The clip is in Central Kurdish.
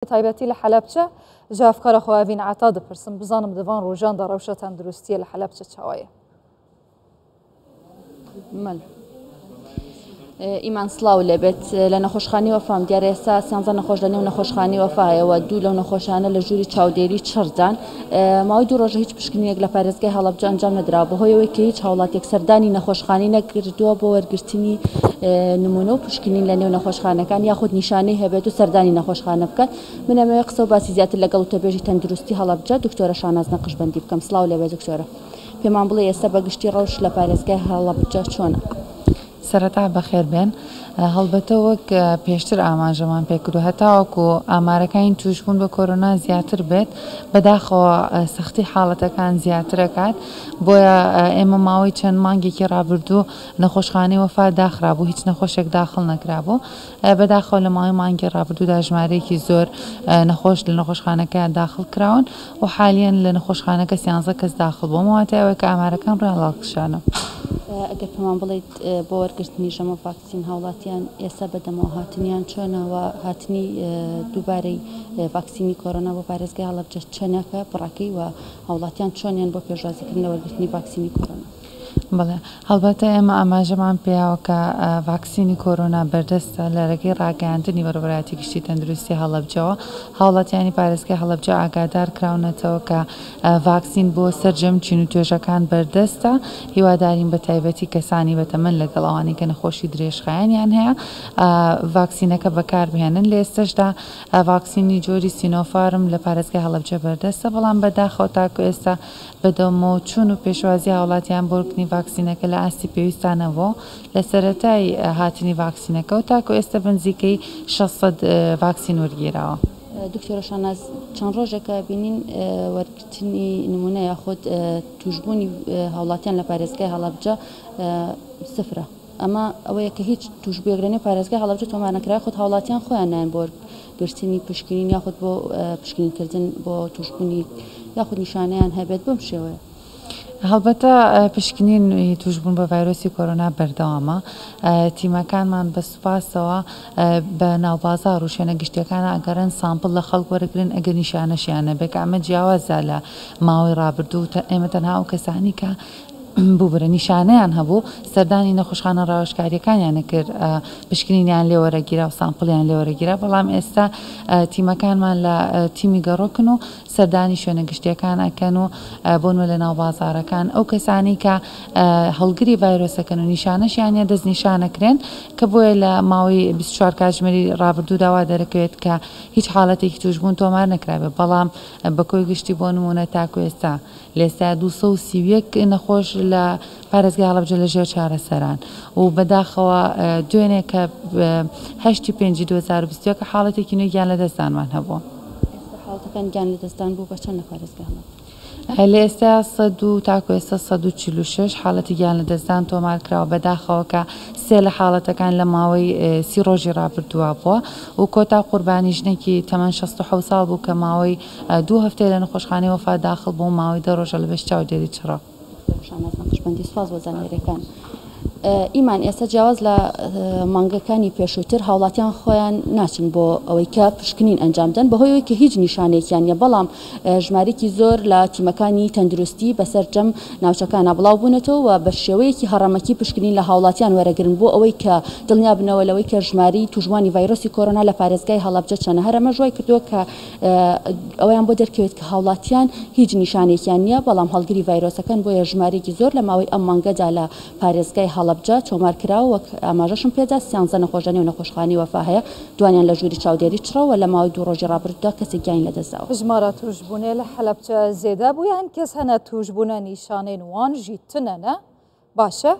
تایبەتی لە حەلەبچە ji hevkara xwe Evîn Eta dipirsim bizanim di van rojan de rewşa tenduristiyê li Helebçe çawa ye. ئیمان سڵاو لێبێت لە نەخۆشخانی وەفام دیارە ئێستا سیانزە نەخۆش لە نێو نەخۆشخانی وەفایە و دوو لەو نەخۆشانە لە ژووری چاودێری چڕدان ماوەی دوو ڕۆژە هیچ پشکنینێک لە پارێزگای هەڵەبجە ئەنجام نەدرا بەهۆی ئەوەی کە هیچ هاوڵاتیەک سەردانی نەخۆشخانی نەکردووە بۆ وەرگرتنی نمونە و پشکنین لە نێو نەخۆشخانەکان یاخود نیشانەی هەبێت و سەردانی نەخۆشخانە بکات من ئەمەوێ قسە و باسی زیاتر لەگەڵ وتەبێژی تەندروستی هەڵەبجە دکتۆرە شاناز نەقشبەندی بکەم سڵاو لێبێ دکتۆرە پێمان بڵێ ئێستا بە گشتی ڕەوش لە پارێزگای هەڵەبجە چۆنە؟ سەرەتا بەخێر بێن. هەڵبەتە وەک پێشتر ئاماژەمان پێکردو هەتاوەکو ئامارەکانی توشبوون بە کۆرۆنا زیاتر بێت بەداخەوە سەختی حاڵەتەکان زیاترەکات بۆیە ئێمە ماوەی چەند مانگێکی ڕابردوو نەخۆشخانەی وەفا داخرابوو هیچ نەخۆشێک داخڵ نەکرابوو بەداخەوە لە ماوەی مانگی ڕابردوودا ژمارەیەکی زۆر نەخۆش لە نەخۆشخانەکە داخڵ کراون و حالیەن لە نەخۆشخانەکە سیانزە کەس داخڵ بووە واتای ئەوەی کە ئامارەکان ڕوویان ڵاڵکشانە. ئەگەر پێمان بڵێیت بۆ وەرگرتنی ژەمە ڤاکسین هاوڵاتیان ئێستا بەدەمەوە هاتنیان چۆنە و هاتنی دووبارەی ڤاکسینی کۆرۆنا بۆ پارێزگای هەڵەبجە چەنەکە بڕەکەی و هاوڵاتیان چۆنیان بۆ پێشوازیکردن لە وەرگرتنی ڤاکسینی کۆرۆنا؟ بەڵێ هەڵبەتە ئێمە ئاماژەمان پێیاوە کە ڤاکسینی کۆرۆنا بەردەستە لە رێگەی راگەیاندنی بەڕێوەبەرایەتی گشتی تەندروستی هەڵەبجەوە هاوڵاتیانی پارێزگای هەڵەبجە ئاگادار کراونەتەوە کە ڤاکسین بۆ سەرجەم چین و توێژەکان بەردەستە هیوادارین بە تایبەتی کەسانی بەتەمەن لەگەڵ ئەوانەی کە نەخۆشی درێژخایەنیان هەیە ڤاکسینەکە بەکاربهێنن لە ئێستەشدا ڤاکسینی جۆری سینۆفارم لە پارێزگای هەڵەبجە بەردەستە بەڵام بەداخەوە تاکو ئێستا بەدەمەوەچوون و پێشوازی هاوڵاتیان بۆ وەرگرتنی ڤاکسینەکە لە ئاستی پێویستدا نەبووە لە سەرەتای هاتنی ڤاکسینەکەوە تاکو ئێستا بەنزیکەی 600 ڤاکسین وەرگیراوە. دکتۆرە شاناز، چەند ڕۆژێکە بینین وەرگرتنی نمونە یاخود توشبوونی هاوڵاتیان لە پارێزگای هەڵەبجە سفرە، ئەمە ئەوەیە کە هیچ توشبوویەک لەنێو پارێزگای هەڵەبجە تۆمار نەکرا، یاخود هاوڵاتیان خۆیان نایەن بۆ وەرگرتنی پشکنین یاخود بۆ پشکنینکردن بۆ توشبوونی یاخود نیشانەیان هەبێت بەم شێوەیە. هەڵبەتە پشکنینی توشبوون بە ڤایرۆسی کۆرۆنا بەردەوامە، تیمەکانمان بە سوپاسەوە بە ناوبازاڕ و شوێنە گشتیەکانە ئەگەڕێن سامپڵ لە خەڵک وەرەگرن ئەگەر نیشانەشیان نەبێت کە ئەمە جیاوازە لە ماوەی ڕابردوو ئێمە تەنها ئەو کەسانی کە ببورە نیشانەیان هەبوو سەردانی نەخۆشخانە ڕاوێژکاریەکانیان نەکرد پشکنینیان لێ وەرەگیرا و سامپڵیان لێ وەرەگیرا بەڵام ئێستا تیمەکانمان لە تیمی گەڕۆکن و سەردانی شوێنە گشتیەکان ئەکەن و بۆنمە لە ناو بازاڕەکان ئەو کەسانەی کە هەڵگری ڤایرۆسەکەن و نیشانەشیان نیە دەستنیشان ئەکرێن کە بۆیە لە ماوەی 24 کاتژمێری ڕابردوودا وا دەرەکەوێت کە هیچ حاڵەتێکی تووشبوون تۆمار نەکرابێت بەڵام بە کۆی گشتی بۆ نموونە تاکو ئێستا لە ئێستا 231 نەخۆش لە پارێزگای هەڵەبجە لە ژێر چارەسەران و بەداخەوە دوێنێ کە هەشتی پێنجی 2021 حاڵەتێکی نوێی گیان لەدەستدانمان هەبووە. ئێستا حاڵەتەکان گیان لەدەستدان بوو بە چەند لە پارێزگای هەڵەبجە؟ لە ئێستا سەد و تاکو ئێستا 146 حاڵەتی گیان لەدەستدان تۆمار کراوە بەداخەوە کە سێ لە حاڵەتەکان لە ماوەی 30 ڕۆژی ڕابردووە بووە و کۆتا قوربانی ژنێکی تەمەن 67 ساڵ بوو کە ماوەی دوو هەفتەیە لە نەخۆشخانەی وەفا داخڵ بوو ماوەی 10 ڕۆژە لە بەش چاودێری چڕە. دکتۆر شاناز نەقشبەندی سوپاس بۆ زانیاریەکان. ئیمان ئێستا جیاواز لە مانگەکانی پێشووتر هاوڵاتیان خۆیان ناچن بۆ ئەوەی کە پشکنین ئەنجام دەن بەهۆی ئەوەی کە هیچ نیشانێکیان نیە بەڵام ژمارێکی زۆر لە تیمەکانی تەندروستی بەسەر جەم ناوچەکانە بڵاو بوونەتەوە و بە شێوەیەکی هەڕەمەکی پشکنین لە هاوڵاتیان وەرەگرن بۆ ئەوەی کە دڵنیا بنەوە لەوەی کە ژماری تووشبووانی ڤایرۆسی کۆرۆنا لە پارێزگای هەڵەبجە چەنە هەر ئەمەش وای کردووە کە ئەوەیان بۆ دەرکەوێت کە هاوڵاتیان هیچ نیشانێکیان نییە، بەڵام هەڵگری ڤایرۆسەکەن، بۆیە ژمارەیەکی زۆر لە ماوەی ئەم مانگەدا لە پارێزگای هەڵەبجە تۆمار کراوە، وەک ئاماژەشم پێدا سیانزە نەخۆش لەنێو نەخۆشخانەی وەفا هەیە، دوانیان لە ژووری چاودێری چڕە و لە ماوەی دوو ڕۆژی ڕابردوودا کەسێک گیانی لەدەستداوە. ژمارە تووشبوونێ لە هەلەبجە زێدە بوویە، هەن کەس هەنە تووشبوونە نیشانەێن وان ژی تنە نە؟ باشە.